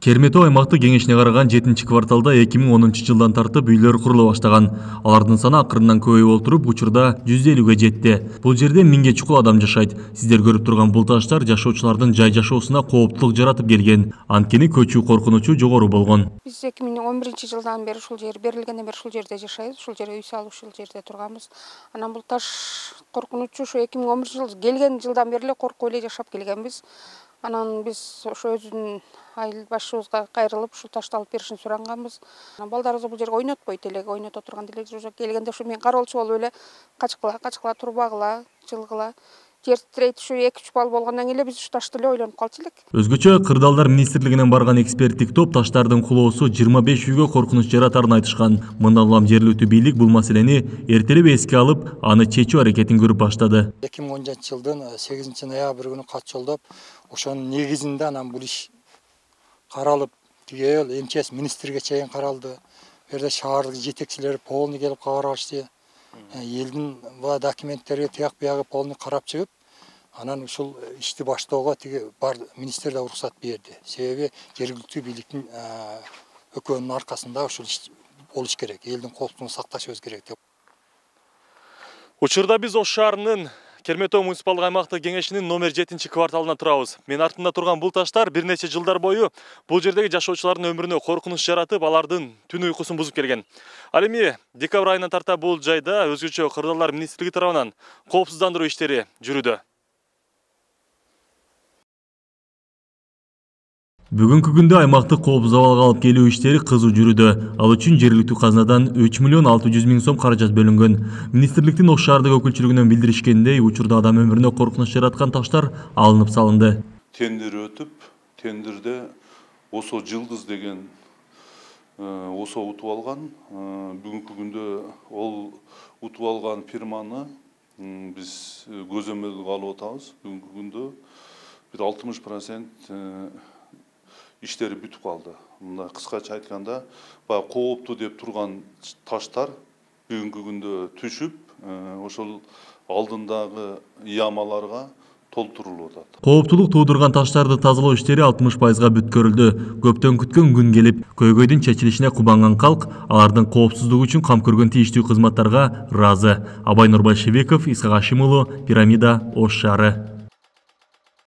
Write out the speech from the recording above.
Керметау аймактык кеңешине караган 7-кварталда 2010-жылдан тартып үйлөр курулуп баштаган. Алардын саны акырындан көбөйүп олтуруп, учурда 150ге жетти. Бул жерде 1000ге чукул адам жашайт. Сиздер көрүп турган бул таштар жашоочулардын жай жашоосуна кооптулук жаратып келген. Анткени көчүү коркунучу жогору болгон. Биз 2011-жылдан бери ушул жер берилгенден бери ушул жерде жашайбыз. Ушул жерге үй салып ушул жерде турганбыз. Анан бул таш коркунучу ушу 2011-жыл келген жылдан бери эле коркуп эле жашап келгенбиз. Анан биз ошо өзүнүн айыл башчыбызга кайрылып ушул ташты алып беришин суранганбыз. Балдарыбызды бул жерге ойнотпойт элек, ойното турган деле жок. Келгенде ушу мен кароолчу болуп эле качкыла турбагыла, жылгыла. Жер тирейт ушу 2-3 бал болгондон кийин эле биз ушу ташты эле ойлонуп калчу элек. Өзгөчө Кырдаалдар министрлигинен барган эксперттик топ таштардын кулоосу 25 үйгө коркунуч жаратарын айтышкан. Мындан улам жергиликтүү бийлик бул маселени эртелеп эске алып, аны чечүү аракетин көрүп баштады. 2010-жылдын 8-ноябрь күнү кат жолдоп, ошонун негизинде анан бул иш каралып, түгөл МЧС министрге чейин каралды. Бу жерде шаардык жетекчилери полный келип кабар алышты. Элдин бул документтерге тияк биягы полный карап чыгып, анан ушул ишти баштоого бар министр да уруксат берди. Себеби жергиликтүү бийликтин өкөөнүн аркасында ушул иш болуш керек. Элдин коопсуздугун сакташыбыз керек деп. Учурда биз Ош шаарынын Керметау муниципалдык аймактык кеңешинин номер 7-кварталына турабыз. Мен артында турган бул таштар бир нече жылдар бою бул жердеги жашоочулардын өмүрүнө коркунуч жаратып, алардын түн уйкусун бузуп келген. Ал эми декабрь айынан тарта бул жайда өзгөчө Кырдаалдар министрлиги тарабынан коопсуздандыруу иштери жүрүүдө. Бүгүнкү күндө аймактык коопсуз абалга алып келүү иштери кызуу жүрүүдө. Ал үчүн жергиликтүү казнадан 3,6 миллион каражат бөлүнгөн. Министрликтин Ош шаардык өкүлчүлүгүнөн билдиришкендей, учурда адам өмүрүнө коркунуч жараткан таштар алынып салынды. Тендер өтүп, тендерде Осо Жылдыз деген Осо утуп алган. Бүгүнкү күндө ол утуп алган фирманы биз көзөмөлгө алып атабыз. Бүгүнкү күндө бир 60% иштери бүтүп калды. Мында кыскача айтканда, баягы кооптуу деп турган таштар бүгүнкү күндө түшүп, ошол алдындагы ямаларга толтурулуп атат. Кооптулук туудурган таштарды тазалоо иштери 60%га бүткөрүлдү. Көптөн күткөн күн келип, көйгөйдүн чечилишине кубанган калк алардын коопсуздугу үчүн кам көргөн тийиштүү кызматтарга ыраазы. Абай Нурбайшевиков, Исхак Ашимулу, Пирамида, Ош шаары.